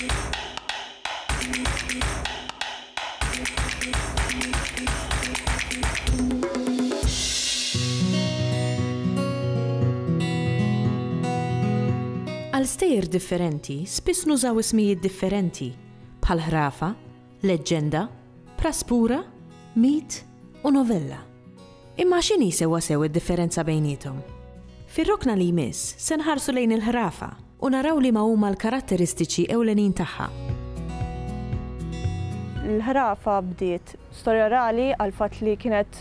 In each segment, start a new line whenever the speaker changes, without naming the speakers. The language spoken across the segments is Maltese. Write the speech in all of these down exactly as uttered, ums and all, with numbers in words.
Għal stejjer differenti, spiss nużaw ismijiet differenti, bħal ħrafa, leġġenda, praspura, mit u novella. Imma x'inhi sewwasew id-differenza bejniethom? Fir-rokna li jmiss se nħarsu lejn il-ħrafa u naraw liema huma l-karatteristiċi ewlenin tagħha.
Il-ħrafa bdiet storja orali għal fatt li kienet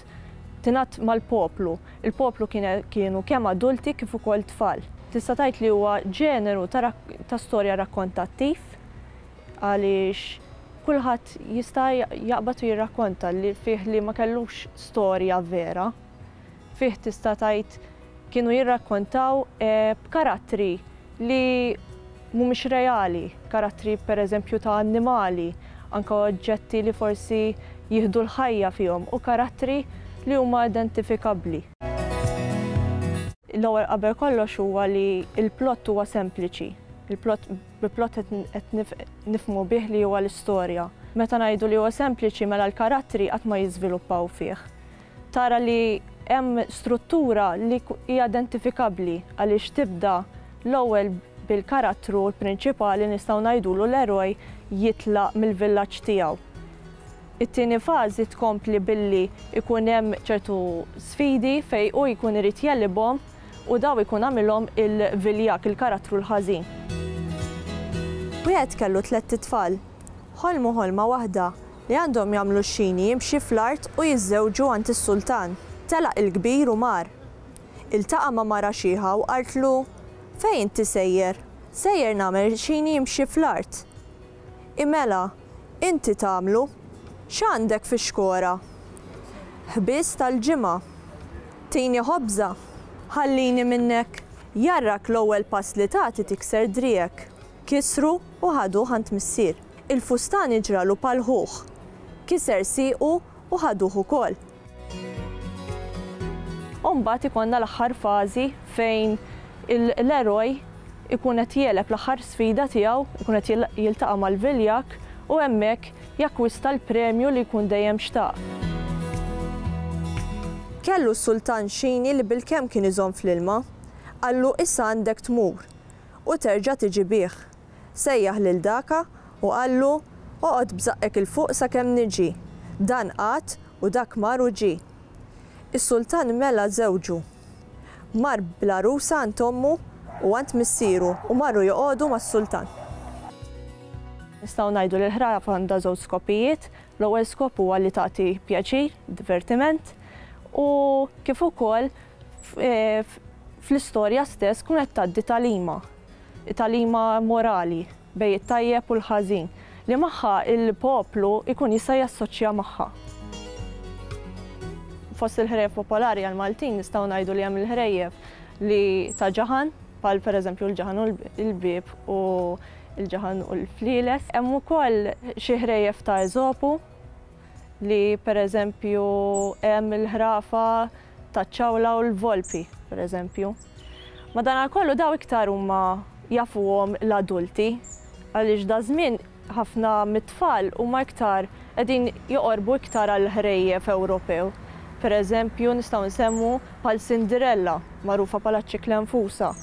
tingħad mal-poplu. Il-poplu kienu kemm adulti kif ukoll tfal. Tista' tgħid li huwa ġeneru ta' storja rakkontattiv għaliex kulħadd jista' jaqbad u jirrakkonta li fih li ma kellux storja vera. Fih tista' tgħid kienu jirrakkontaw b'karattri li mhumiex reali, karattri pereżempju ta' annimali, anke oġġetti li forsi jieħdu l-ħajja fihom u karattri li huma identifikabbli. L-ewwel qabel kollox huwa li l-plott huwa sempliċi. Il-plott bi plott qed nifhmu bih li huwa l-istorja. Meta ngħidu li huwa sempliċi mela l-karattri qatt ma jiżviluppaw fih. Tara li hemm struttura li hija identifikabbli għaliex tibda l-ewwel bil-karattru prinċipali nistgħu ngħidulu l-eroj jitlaq mill-villaġġ tiegħu. It-tieni fażi tkompli billi ikun hemm ċertu sfidi fejn hu jkun irid jegħlibhom u daw ikun għamilhom il-viljak, il-karattru l-ħażin. Wieħed kellu tlett itfal, ħolmu ħolma waħda li għandhom jagħmlu x-xini jimxi fl-art u jiżżewġu għand is-sultan. Telaq il-kbir u mar. Iltaqa' ma' mara xiħa u qaltlu, fejn inti sejjer? Sejjer nagħmel xini jimxi fl-art. Imela, inti tagħmlu. X'għandek fix-xkora? Ħbiż tal-ġimgħa. Tini ħobża. Ħallini minnek. Jarrak l-ewwel pass li tagħti tikser driegħek. Kisru u ħaduh għand missier. Il-fustan iġralu palħuh. Kiser siequ u ħaduh ukoll. U mbagħad ikollna l-aħħar fażi fejn l-eroj ikun qed jegħleb l-aħħar sfida tiegħu, ikun qed jiltaqa' mal-viljak u hemmhekk jakkwista l-premju li jkun dejjem xtaq. Kellu s-sultan xini li bilkemm kien iżomm fl-ilma, qallu issa għandek tmur u terġa' tiġi bih. Sejjaħ lil daka u qallu oqgħod b'żaqqek 'il fuq sakemm niġi. Dan qagħad u dak mar u ġie. Is-sultan mela żewġu. Mar bl-għarusa għand ommu u għand missieru u marru joqogħdu mas-sultan. Nistgħu ngħidu li l-ħrafa għandha żewġ skopijiet. L-ewwel skop huwa li tagħti pjaċir, divertiment, u kif ukoll fl-istorja stess tkun qed tgħaddi tagħlima, tagħlima morali bejn it-tajjeb u l-ħażin li magħha il-poplu jkun jista' jassoċja magħha. Fost il-ħrejjef popolari għal-Maltin nistgħu ngħidu li hemm il-ħrejjef li ta' ġaħan, bħal pereżempju l-ġaħan u l-bieb u l-ġaħan u l-flieles. Hemm ukoll xi ħrejjef ta' Eżopu li pereżempju hemm il-ħrafa taċ-ċawla u l-volpi pereżempju. Madankollu daw iktar huma jafuhom l-adulti għaliex da żmien ħafna mit-tfal huma iktar qegħdin joqorbu iktar għal ħrejjef Ewropew. Pereżempju nistgħu nsemmu bħal Cinderella, magħrufa bħala ċ-ċikla nfusa.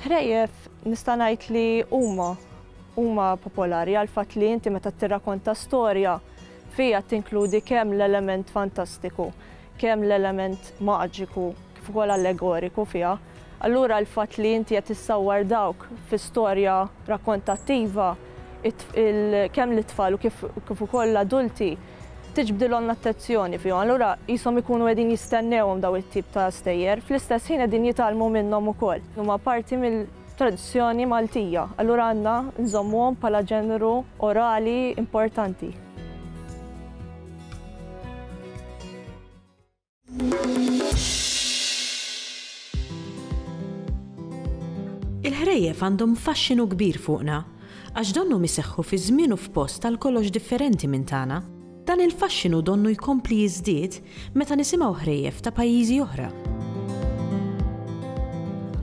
Ħrejjef nista' ngħid li huma huma popolari għal fatt li inti meta tirrakkonta storja fija tinkludi kemm l-element fantastiku, kemm l-element maġiku, kif ukoll allegoriku fiha. Allura l-fatt li inti qed tissawwar dawk fi storja rakkontattiva kemm l-itfal u kif ukoll l-adulti tiġbdilhom l-attenzjoni fihom. Allura qishom ikunu qegħdin jistennewhom daw it-tip ta' stejjer, fl-istess ħin qegħdin jitgħallmu minnhom ukoll. Huma parti mill-tradizzjoni Maltija, allura għandna nżommuhom bħala ġeneru orali importanti.
Il-ħrejjef għandhom faxxinu kbir fuqna, għax donnhom iseħħu fi żmien u f'post għal kollox differenti minn tagħna. Dan il-faxxinu donnu jkompli jiżdied meta nisimgħu ħrejjef ta' pajjiżi oħra.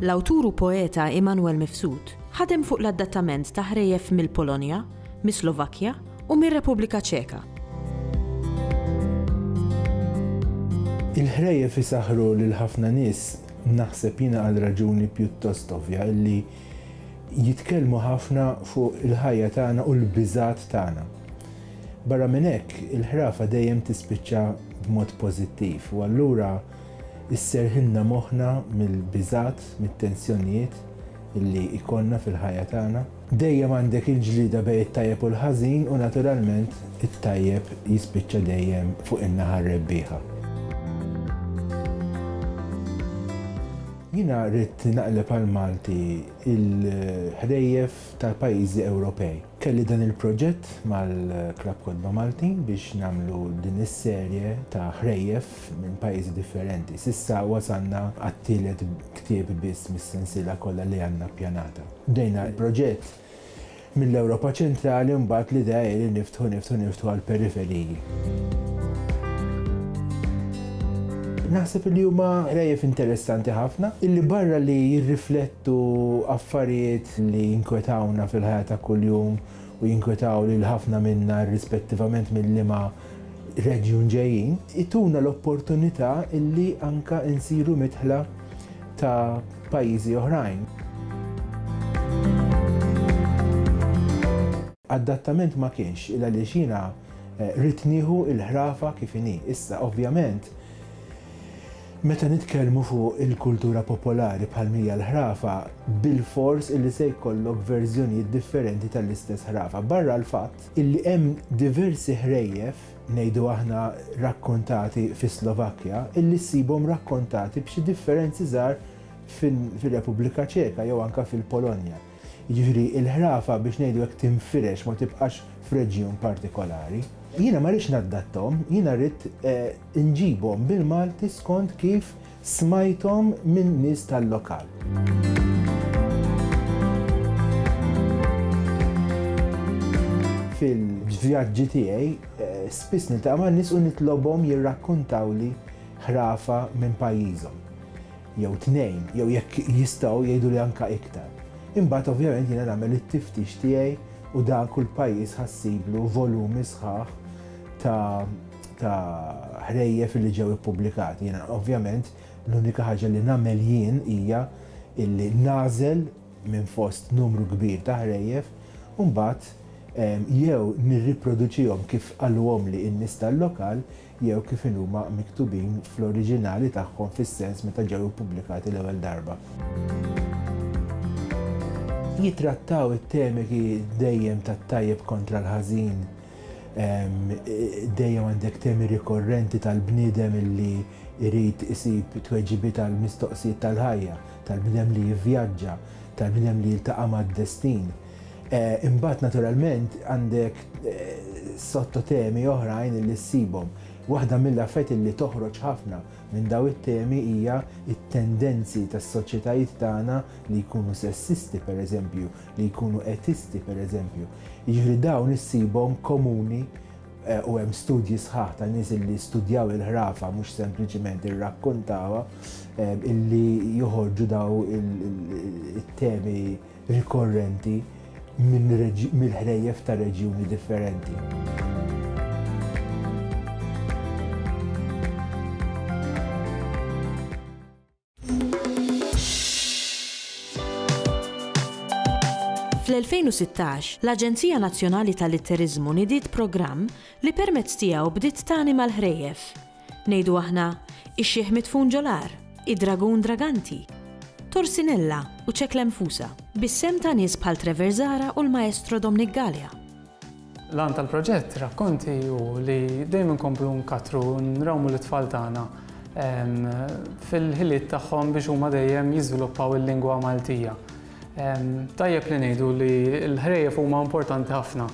L-awtur u poeta Immanuel Mifsud ħadem fuq l-adattament ta' ħrejjef mill-Polonja, mis-Slovakkja u mir-Repubblika Ċeka.
Il-ħrejjef isaħħru lil ħafna nies, naħseb jiena, għal raġuni pjuttost ovvja, illi jitkellmu ħafna fuq il-ħajja tagħna u l-biżat tagħna. Barra minn hekk, il-ħrafa dejjem tispiċċa b'mod pożittiv u allura isserħilna moħħna mill-biżat, mit-tensjonijiet illi ikollna fil-ħajja tagħna. Dejjem għandek il-ġlida bejn it-tajjeb u l-ħażin u naturalment it-tajjeb jispiċċa dejjem fuq in-naħa rebbieħa. Jiena ridt naqleb għal Malti il-ħrejjef tal-pajjiżi Ewropej. Kelli dan il-proġett mal-Klabb Kotba Maltin biex nagħmlu din is-serje ta' ħrejjef minn pajjiżi differenti. S'issa wasalna għat-tielet ktieb biss mis-sensiela kollha li għandna ppjanata. Bdejna l-proġett mill-Ewropa Ċentrali, mbagħad l-idea hi li niftħu, niftħu, niftħu għall-periferiji. Naħseb li huma ħrejjef interessanti ħafna, illi barra li jirriflettu affarijiet li jinkwetawna fil-ħajja ta' kuljum u jinkwetaw lil ħafna minna rispettivament mill-liema reġjun ġejjin, ituna l-opportunità illi anka insiru midħla ta' pajjiżi oħrajn. Adattament ma kienx, illa li xina ridt nieħu il-ħrafa kif inhi. Issa, ovvjament, meta nitkellmu fuq il-kultura popolari bħal mija l-ħrafa, bil-fors illi se jkollok verżjonijiet differenti tal-istess ħrafa. Barra l-fatt illi hemm diversi ħrejjef, ngħidu aħna, rakkontati fi Slovakkja, illi ssibhom rakkontati b'xi differenzi żgħar fil-Repubblika Ċeka jew anka fil-Polonja. Jiġifieri il-ħrafa, biex ngħidu hekk, tinfirex, ma tibqax f'reġjun partikolari. Jiena ma rridx nadattom, jiena rrid eh, nġibhom bil-Malti skont kif smajthom minn nies tal-lokal. Fil-vjaġġi tiegħi eh, spiss niltaqa' ma' nies u nitlobhom jirrakkontawli ħrafa minn pajjiżhom. Jew tnejn, jew jekk jistgħu jgħidu li anka iktar. Imbagħad ovvjament jiena nagħmel it-tiftix tiegħi u dan kull pajjiż ħa ssiblu volumi sħaħ ta' ta' ħrejjef li ġew ippubblikati. Jiena ovvjament l-unika ħaġa li nagħmel jien hija illi nagħżel minn fost numru kbir ta' ħrejjef u mbagħad jew nirriproduċihom kif qalulhom li n-nies tal-lokal jew kif huma miktubin fl-oriġinali tagħhom, fis-sens meta ġew ippubblikati l-ewwel darba. Jitrattaw it-temi dejjem tat-tajjeb kontra l-ħażin, dejjem għandek temi rikorrenti tal-bniedem illi jrid isib tweġibiet tal-mistoqsijiet tal-ħajja, tal-bniedem li jivvjaġġa, tal-bniedem li jiltaqa' mad-destin. Eh, imbagħad naturalment għandek eh, sottotemi oħrajn li ssibhom. Waħda mill-affarijiet li toħroġ ħafna minn daw it-temi hija it-tendenzi tas-soċjetajiet tagħna li jkunu sessisti pereżempju, li jkunu etisti pereżempju. Jiġifieri dawn issibhom komuni eh, u hemm studji sħaħ ta' nies li studjaw il-ħrafa, mhux sempliċiment irrakkontawha, illi joħorġu daw it-temi rikorrenti mill-ħrejjef ta' reġjuni differenti.
Fl-elfejn u sittax, l-Aġenzija Nazzjonali tal-Litteriżmu nidiet programm li permezz tiegħu bdiet tanima l-ħrejjef. Ngħidu aħna, Ix-Xiħ Midfun Ġol-Għar, Id-Dragun Draganti, Torsinella u Ċeklenfusa, bis-sehem ta' nies bħal Trevor Zahra u l-Maestro Dominic Galea.
L-għan tal-proġett Rakkonti hu li dejjem nkomplu nkattru, nrawmu l-tfal tagħna fil-ħiliet tagħhom biex huma dejjem jiżviluppaw il-lingwa Maltija. Tajjeb li ngħidu li l-ħrejjef huma importanti ħafna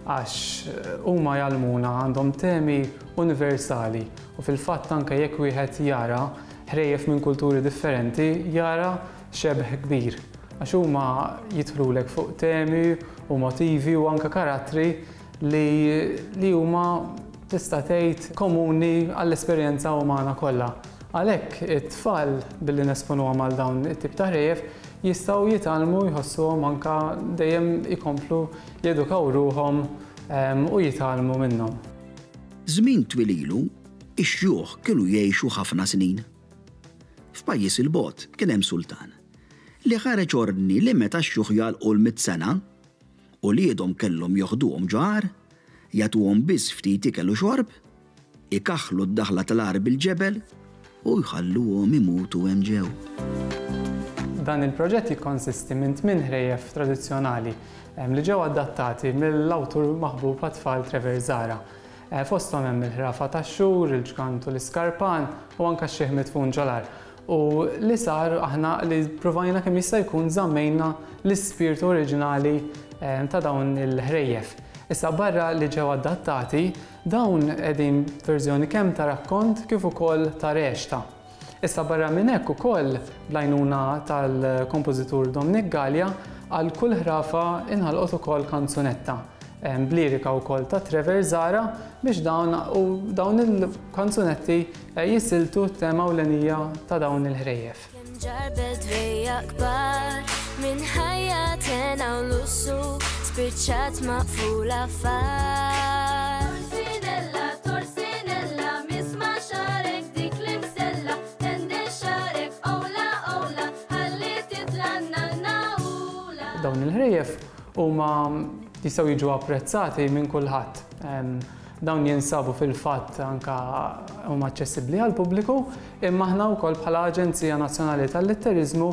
għax huma jgħallmuna, għandhom temi universali u fil-fatt anke jekk wieħed jara ħrejjef minn kulturi differenti jara xebh kbir għax huma jidħlulek fuq temi u motivi u anke karattri li, li huma, tista' tgħid, komuni għall-esperjenza umana kollha. Għalhekk it-tfal, billi nesponuhom għal dawn it-tip ta' ħrejjef, jistgħu jitgħallmu jħossuhom anke dejjem ikomplu jedukaw ruħhom u jitgħallmu minnhom.
Żmien twil ilu, ix-xjuħ kienu jgħixu ħafna snin. F'pajjiż il-bogħod kien hemm sultan li ħareġ ordni li meta x-xjuħ jagħlqu l-mitt sena, uliedhom kellhom joħduhom ġo għar, jagħtuhom biss ftit ikel u xorb, ikaħħlu d-daħla tal-għar bil-ġebel u jħalluhom imutu hemm ġew.
Dan il-proġett jikkonsisti minn tmien ħrejjef tradizzjonali li ġew adattati mill-awtur maħbub għat-tfal Trevor Zahra. Fosthom hemm il-ħrafa tax-xhur, il-ġgant u l-iskarpan u anke x-xiħ midfun ġol-għar. U li sar aħna li provajna kemm jista' jkun żammejna l-ispirtu oriġinali ta' dawn il-ħrejjef. Issa barra li ġew adattati, dawn qegħdin verżjoni kemm ta' rakkont kif ukoll ta' reċta. Issa barra minn hekk ukoll bl-għajnuna tal-kompożitur Dominic Galea għal kull ħrafa inħalqot ukoll kanzunetta b'lirika wkoll ta' Trevor Zahra biex dawn u dawn il-kanzunetti jisiltu t-tema ewlenija ta' dawn il-ħrejjef.
Kemm ġarbet rejja kbar minn ħajja tena u lussu spiċċat maqfula far. Torsinella, torsinella, misma' xarek dik l-imsella, tende xarek owla owla, ħalli titla' nanna ula.
Dawn il-ħrejjef huma jistgħu jiġu apprezzati minn kulħadd. Dawn jinsabu fil-fatt anka huma aċċessibbli għall-pubbliku, imma aħna wkoll bħala Aġenzija Nazzjonali tal-Litteriżmu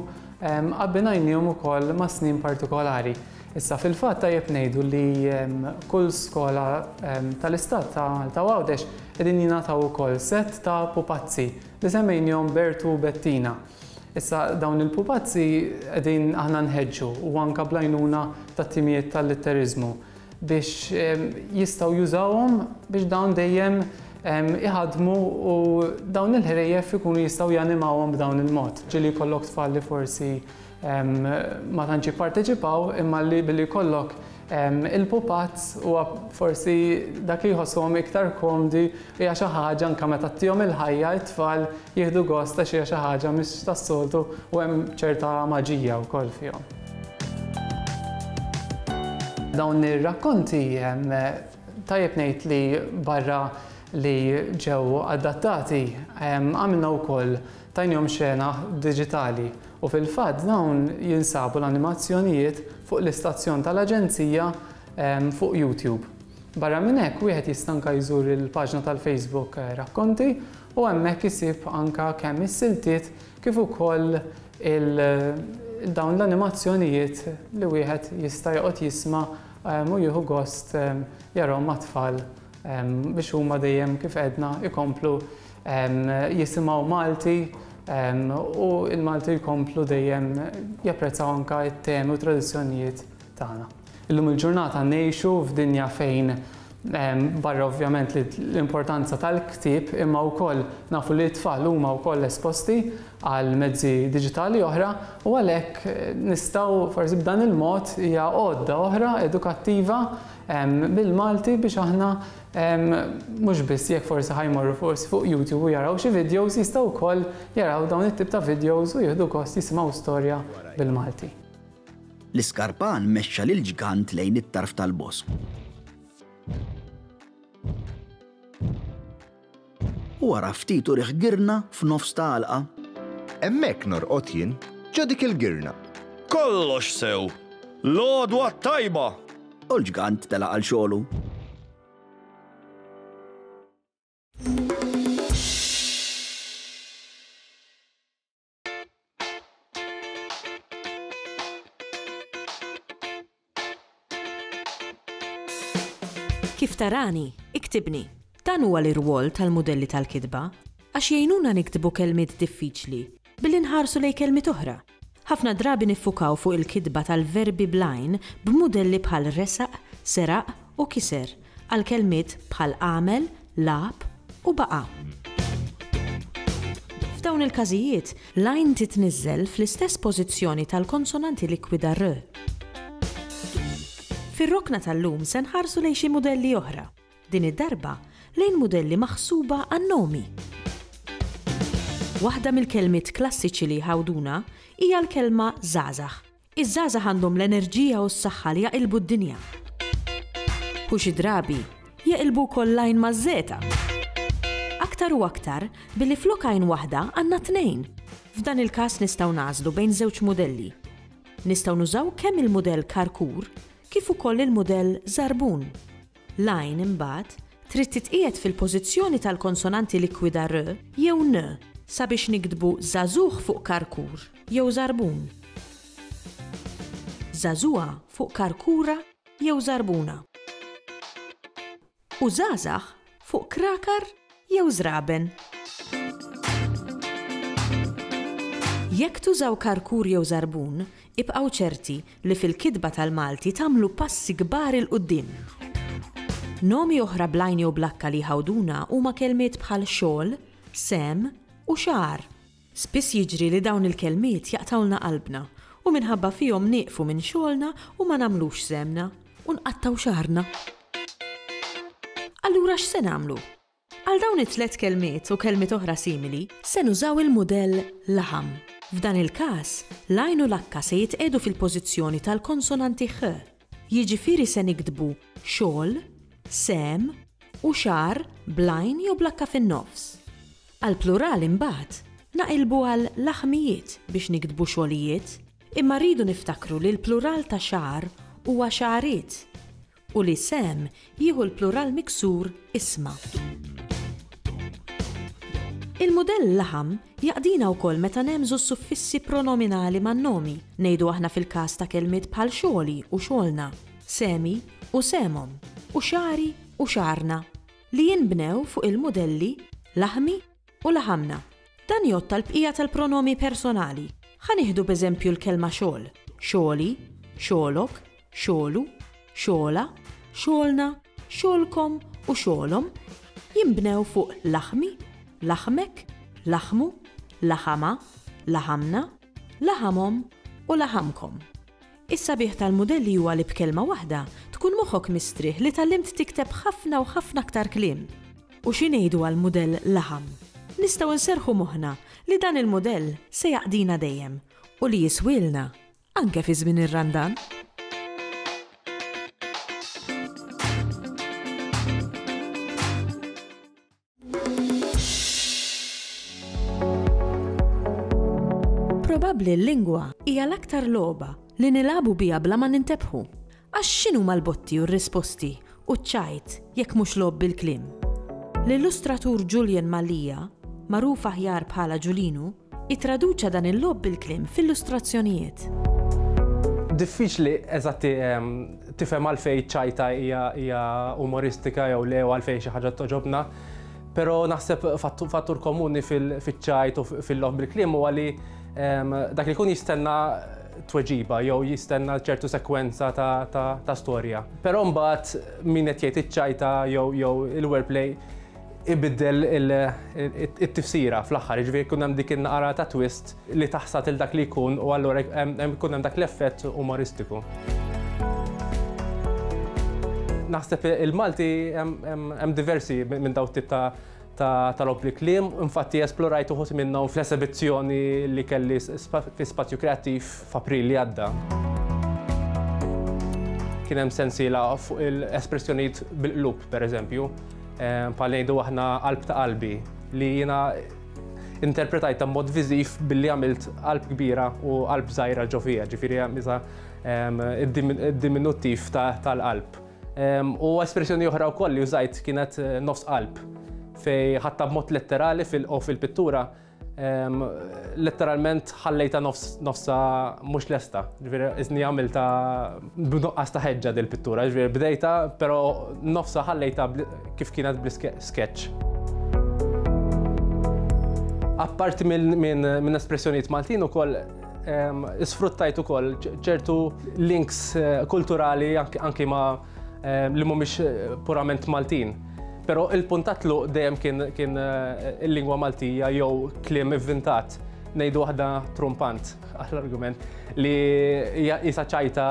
abbinajniehom ukoll ma' snin partikolari. Issa fil-fatt tajjeb ngħidu li kull skola tal-istat ta' Malta u Għawdex qegħdin jingħataw ukoll set ta' pupazzi li semmejniehom Bertu u Bettina. Issa dawn il-pupazzi qegħdin aħna nħeġġu u anke bl-għajnuna tat-timijiet tal-litteriżmu biex jistgħu jużawhom biex dawn dejjem iħadmu u dawn il-ħrejjef ikunu jistgħu janimawhom b'dawn il-mod. Ġieli jkollok tfal li forsi ma tantx jipparteċipaw imma li billi jkollok il-pupazz huwa forsi dak li jħossuhom iktar komdi hija xi ħaġa anke meta ttihom il-ħajja t-tfal jieħdu gost għax hija xi ħaġa mhix tas-soltu u hemm ċerta maġija wkoll fihom. Dawn ir-rakkonti tajjeb ngħid li barra li ġew adattati għamilna wkoll tajnihom xena diġitali u fil-fatt dawn jinsabu l-animazzjonijiet fuq l-istazzjon tal-Aġenzija fuq YouTube. Barra minn hekk wieħed jista' anke jżur il-paġna tal-Facebook Rakkonti u hemmhekk isib anke kemm is-siltiet kif ukoll dawn l-animazzjonijiet li wieħed jista' joqgħod jisma' u jieħu gost jarahom mat-tfal biex huma dejjem kif għedna ikomplu jisimgħu Malti u l-Malti jkomplu dejjem japprezzaw anke t-temi u tradizzjonijiet tagħna. Illum il-ġurnata ngħixu f'dinja fejn barra ovvjament l-importanza tal-ktieb imma wkoll nafu li t-tfal huma wkoll esposti għal mezzi diġitali oħra u għalhekk nistgħu forsi b'dan il-mod hija għodda oħra edukattiva bil-Malti biex aħna mhux biss jekk forsi ħajmorru forsi fuq YouTube u jaraw xi videos jistgħu wkoll jaraw dawn it-tip ta' videos u jieħdu gost jisimgħu storja bil-Malti.
L-iskarpan mexxa lil ġgant lejn it-tarf tal-bosk. U wara ftit uriħ girna f'nofs ta' għalqa.
Hemmhekk norqod jien ġo dik il-girna.
Kollox sew! L-għodwa tajba!
U l-ġgant telaq għal xogħlu.
Kif tarani, iktibni. Dan huwa l-irwol tal-mudelli tal-kitba għax jgħinuna niktbu kelmiet diffiċli billi nħarsu lejn kelmiet oħra. Ħafna drabi niffukaw fuq il-kitba tal-verbi blajn b'mudelli bħal resaq, seraq u kiser għal kelmiet bħal għamel, lab u baqa. F'dawn il-każijiet, l-għajn titniżżel fl-istess pożizzjoni tal-konsonanti likwida r. Fir-rokna tal-lum se nħarsu lejn xi mudelli oħra. Din id-darba lejn mudelli maħsuba għan-nomi. Waħda mill-kelmiet klassiċi li jħawduna hija l-kelma żgħażagħ. Iż-żgħażagħ għandhom l-enerġija u s-saħħa li jaqilbu d-dinja. U xi drabi jaqilbu wkoll l-għajn maż-żeta. Aktar u aktar billi flok għajn waħda għandna tnejn. F'dan il-każ nistgħu nagħżlu bejn żewġ mudelli. Nistgħu nużaw kemm il-mudell karkur kif ukoll il-mudell żarbun. L-għajn imbagħad trid titqiegħed fil-pożizzjoni tal-konsonanti likwida r jew n sabiex niktbu żagħżugħ fuq karkur jew żarbun. Żagħżugħa fuq karkura jew żarbuna. U żgħażagħ fuq krakar jew żraben. Jekk tużaw karkur jew żarbun, ibqgħu ċerti li fil-kitba tal-Malti tagħmlu passi kbar 'il quddiem. Nomi oħra bl-għajn jew blakka li jħawduna huma kelmiet bħal xogħol, sehem u xagħar. Spiss jiġri li dawn il-kelmiet jaqtgħulna qalbna u minħabba fihom nieqfu minn xogħolna u ma nagħmlux sehemna u nqattgħu xagħarna. Allura x'se nagħmlu? Għal dawn it-tliet kelmiet u kelmiet oħra simili se nużaw il-mudell laħam. F'dan il-każ, l-għajn u l-akka se jitqiegħdu fil-pożizzjoni tal-konsonanti ħ. Jiġifieri se niktbu xogħol, sehem u xagħar bl-għajn jew blakka fin-nofs. Għall-plural imbagħad naqilbu għal laħmijiet biex niktbu xogħlijiet, imma rridu niftakru li l-plural ta' xagħar huwa xagħriet u li sehem jieħu l-plural miksur isma. Il-mudell laħam jaqdina wkoll meta nemżu s-suffissi pronominali man-nomi, ngħidu aħna fil-każ ta' kelmiet bħal xogħli u xogħolna, sehmi u sehemhom, u xagħri u xagħarna, li jinbnew fuq il-mudelli laħmi u laħamna. Dan jgħodd tal-bqija tal-pronomi personali. Ħa nieħdu b'eżempju l-kelma xogħol, xogħli, xogħlok, xogħlu, xogħla, xogħolna, xogħolkom u xogħolhom jinbnew fuq laħmi, laħmek, laħmu, laħama, laħamna, laħamhom u laħamkom. Is-sabiħ tal-mudelli huwa li b'kelma waħda tkun moħħok mistrieħ li tgħallimt tikteb ħafna u ħafna aktar kliem. U xi ngħidu għall-mudell laħam? Nistgħu nserrħu moħħna li dan il-mudell se jaqdina dejjem u li jiswielna anke fi żmien ir-Randan. Probabbli l-lingwa hija l-aktar logħba li nilagħbu biha bla ma nintebħu. Għax x'inhuma l-botti u r-risposti u ċ-ċajt jekk mhux logħob bil-kliem? L-illustratur Julian Mallia, magħruf aħjar bħala Ġulinu, ittraduċa dan il-logħob bil-kliem f'illustrazzjonijiet.
Diffiċli eżatti tifhem għalfejn ċajta hija umoristika jew le u għalfejn xi ħaġa toġobna, però naħseb fattur komuni fiċ-ċajt u fil-logħob bil-kliem huwa li dak li jkun jistenna tweġiba jew jistenna ċertu sekwenza ta' storja. Però mbagħad min qed jgħid iċ-ċajta jew il-wordplay ibiddel it-tifsira fl-aħħar, jiġifieri jkun hemm dik in-naqra ta' twist li taħsad il dak li jkun u allura jkun hemm dak l-effett umoristiku. Naħseb il-Malti hemm diversi minn dawn tip ta' ta' logħob bil-kliem, infatti esplorajt uħud minnhom fl-esebizzjoni li kelli fi Spazju Kreattiv f'April li għadda. Kien hemm sensiela fuq l-espressjonijiet bil-qlub, pereżempju, bħal ngħidu aħna qalb ta' qalbi, li jiena interpretajta b'mod viżiv billi għamilt qalb kbira u qalb żgħira ġo fiha, ġifieri hemm id-diminuttiv tal-qalb. U espressjoni oħra wkoll li użajt kienet nofs qalb, fej ħatta b'mod letterali u fil-pittura letteralment ħallejta nofsa mhux lesta. Ġifieri iżni għamilta b'nuqqas ta' ħeġġa dil-pittura, ġifieri bdejta, però nofsa ħallejta kif kienet bl-sketch. Apparti minn espressjonijiet Maltin ukoll isfruttajt ukoll ċertu links kulturali anki ma' li mhumiex purament Maltin. Però il-punt ta' tluq dejjem kien il-lingwa Maltija jew kliem ivvintat, ngħidu waħda trumpant għall-argument li jisa ċajta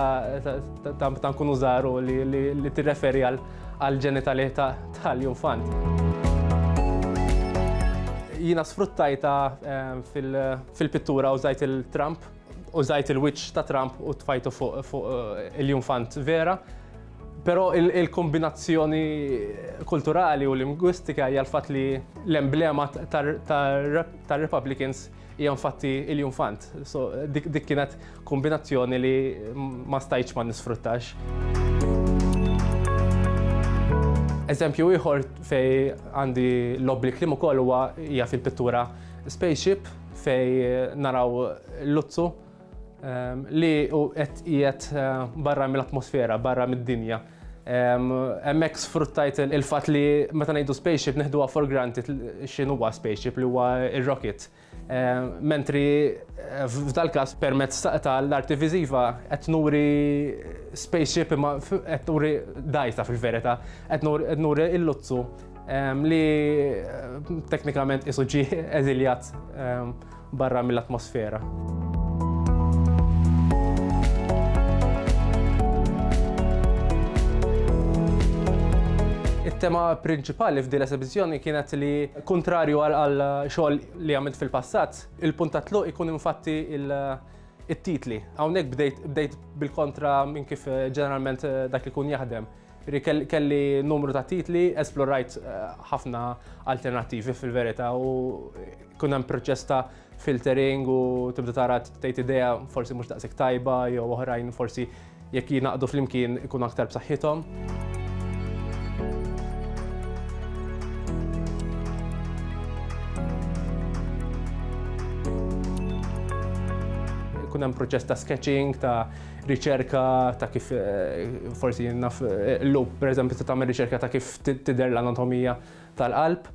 ta' nkunu żgħar li tirreferi għall-ġenitali tal-infant. Jiena sfruttajta fil-pittura użajt il-tramp Użajt il-wiċċ ta' Trump u tfajtu fuq il-iljunfant vera. Però il-kombinazzjoni kulturali u lingwistika hija l-fatt li l-emblema tar-Republicans hija infatti il-iljunfant. So dik kienet kombinazzjoni li ma stajtx ma nisfruttax. Eżempju ieħor fej għandi l-obli kliem ukoll huwa hija fil-pittura Spaceship fej naraw l-luzzu li qed qiegħed barra mill-atmosfera, barra mid-dinja. Hemmhekk sfruttajt il-fatt li meta ngħidu spaceship neħduha for granted x'inhuwa spaceship li huwa ir-rocket. Mentri f'dal-każ permezz tal-arti viżiva qed nuri spaceship imma qed nuri dgħajsa fil-verità, qed nuri l-luzzu li teknikament qisu ġie eżiljat barra mill-atmosfera. Il-tema prinċipali f'din l-esibizzjoni kienet li kontrarju għal xogħol li għamilt fil-passat, il-punt ta' tluq ikun infatti it-titli. Hawnhekk bdejt bil-kontra minn kif ġeneralment dak li kun jaħdem. Kelli numru ta' titli, esplorajt ħafna alternattivi fil-verità u kun hemm proċess ta' filtering u tibda tara tgħid idea forsi mhux daqshekk tajba jew oħrajn forsi jekk jingħaqdu flimkien ikun aktar b'saħħithom. Kun hemm proċess ta' sketching, ta' riċerka, ta' kif forsi naf l-loop, pereżempju, ta' tagħmel riċerka ta' kif tidher l-anatomija tal-qalb.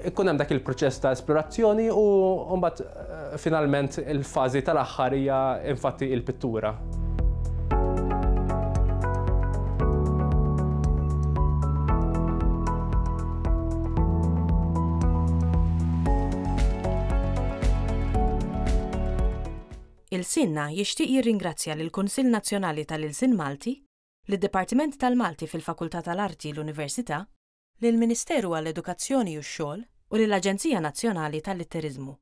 Ikun hemm dak il-proċess ta' esplorazzjoni u mbagħad finalment il-fażi tal-aħħar hija infatti il-pittura.
Ilsienna jixtieq jirringrazzja lill-Kunsill Nazzjonali tal-Ilsien Malti, lid-Dipartiment tal-Malti fil-Fakultà tal-Arti l-Università, lill-Ministeru għall-Edukazzjoni u x-Xogħol u lill-Aġenzija Nazzjonali tal-Litteriżmu.